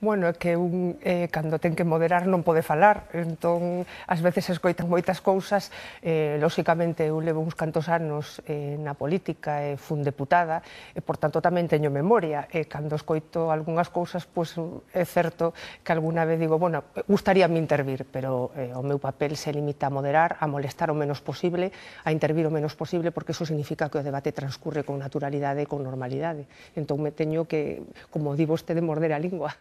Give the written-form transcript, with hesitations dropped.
Bueno, é que cando ten que moderar non pode falar, entón ás veces escoitan moitas cousas, lóxicamente eu levo uns cantos anos na política e fun deputada e por tanto tamén teño memoria e cando escoito algunhas cousas pois é certo que alguna vez digo, bueno, gustaríame intervir, pero o meu papel se limita a moderar, a molestar o menos posible, a intervir o menos posible porque iso significa que o debate transcurre con naturalidade e con normalidade, entón me teño que, como di vostede, morder a lingua.